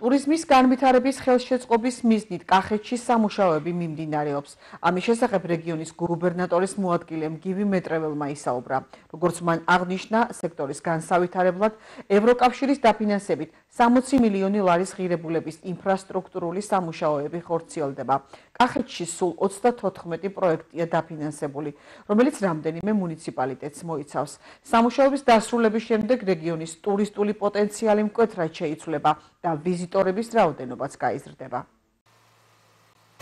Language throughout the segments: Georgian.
ტურიზმის განვითარების ხელშეწყობის მიზნით კახეთში სამუშაოები მიმდინარეობს. ამის შესახებ რეგიონის გუბერნატორის მოადგილე მგივი მეტრეველმა ისაუბრა. როგორც მან აღნიშნა, სექტორის განსავითარებლად ევროკავშირის დაფინანსებით 60 მილიონი ლარის ღირებულების ინფრასტრუქტურული სამუშაოები ხორციელდება. კახეთში სულ 34 პროექტია დაფინანსებული, რომელიც რამდენიმე მუნიციპალიტეტს მოიცავს. სამუშაოების დასრულების შემდეგ რეგიონის ტურისტული პოტენციალი მკვეთრად შეიცვლება და ვიზიტორების რაოდენობაც გაიზრდება.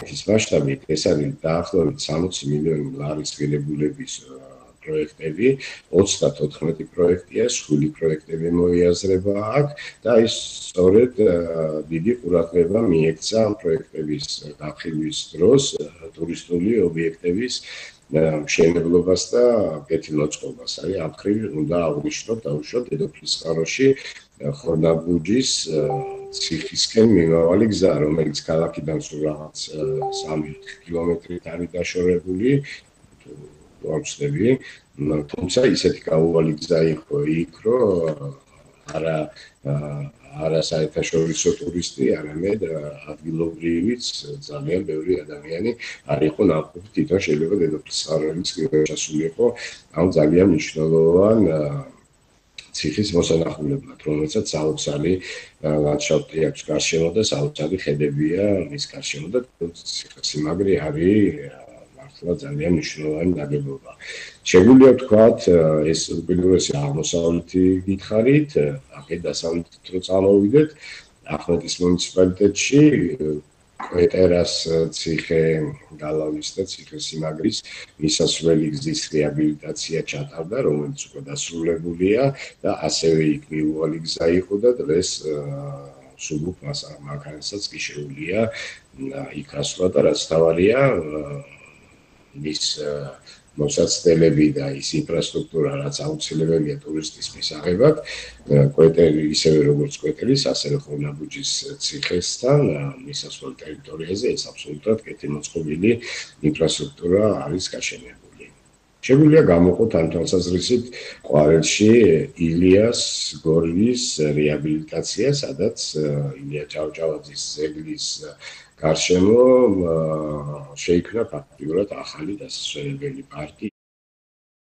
ეს მასშტაბით ეს არის დაახლოებით 60 მილიონი ლარის ღირებულების პროექტები, 34 პროექტია, 7 პროექტები მოიაზრება აქ და ის სწორედ დიდი ყურადღება მიექცა ამ პროექტების გახილვის დროს ტურისტული ობიექტების მშენებლობას და კეთილმოწყობას. აი ამ მხრივ უნდა აღვნიშნოთ დაუშვათ დედოფლის წყაროში ხორნაბუჯის ციხისკენ მიმავალი გზა, რომელიც ქალაქიდან სულ რაღაც 3 კილომეტრით არის დაშორებული, ვამჩნევი, თუმცა ისეთი გაუვალი გზა იყო იქ, რომ არა საერთაშორისო ტურისტი, არამედ ადგილობრივიც ძალიან ბევრი ადამიანი არ იყო ნაყოფი, თვითონ შეიძლება დედოფლის წყაროების ჩასულიყო ამ ძალიან მნიშვნელოვან ციხის მოსანახულებლად, რომელსაც საოცარი ლანდშაფტი აქვს გარშემო და საოცარი ხედებია მის გარშემო და ციხესიმაგრე არის მართლა ძალიან მნიშვნელოვანი ნაგებობა. შეგვიძლია ვთქვათ, ეს უპირველესი აღმოსავლეთი გითხარით, აქეთ დასავლეთით რო წამოვიდეთ, ახმეტის მუნიციპალიტეტში კვეტერას ციხე გალავნის და ციხესიმაგრის მისასვლელი გზის რეაბილიტაცია ჩატარდა, რომელიც უკვე დასრულებულია და ასევე იქ მიუვალი გზა იყო და დღეს სულ მანქანასაც კი შეუძლია იქ ასვლა და რაც თავარია მის მოსაცდელები და ის ინფრასტრუქტურა, რაც აუცილებელია ტურისტის მისაღებად, კვეტერი ისევე როგორც კვეტერის, ასევე ხორნაბუჯის ციხესთან მისასვლელ ტერიტორიაზე ეს აბსოლუტურად კეთილმოწყობილი ინფრასტრუქტურა არის გაშენებული. შეგვიძლია გამოვყოთ ამ თვალსაზრისით ყვარელში ილიას გორლის რეაბილიტაცია, სადაც ილია ჭავჭავაძის ძეგლის გარშემო შეიქმნა ფაქტიურად ახალი დასასვენებელი პარკი.